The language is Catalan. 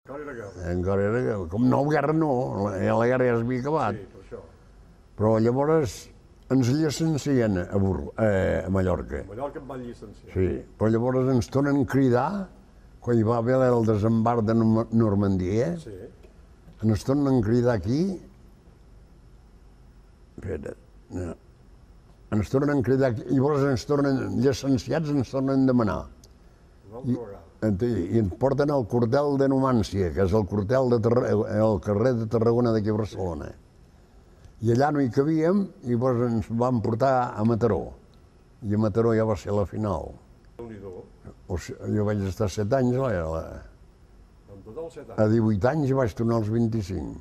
Encara era guerra. Com no, guerra no, la guerra ja s'havia acabat. Sí, per això. Però llavors ens llicencien a Mallorca. A Mallorca em van llicenciar. Sí, però llavors ens tornen a cridar, quan hi va haver el desembarc de Normandia, Sí. ens tornen a cridar aquí. Espera, no. Ens tornen a cridar aquí, llavors ens tornen, llicenciats ens tornen a demanar. Una altra vegada. I ens porten al quartel de Numància, que és el quartel al carrer de Tarragona d'aquí a Barcelona. I allà no hi cabíem i llavors ens van portar a Mataró. I a Mataró ja va ser la final. Déu-n'hi-do. Jo vaig estar 7 anys, En total 7 anys. a 18 anys vaig tornar als 25.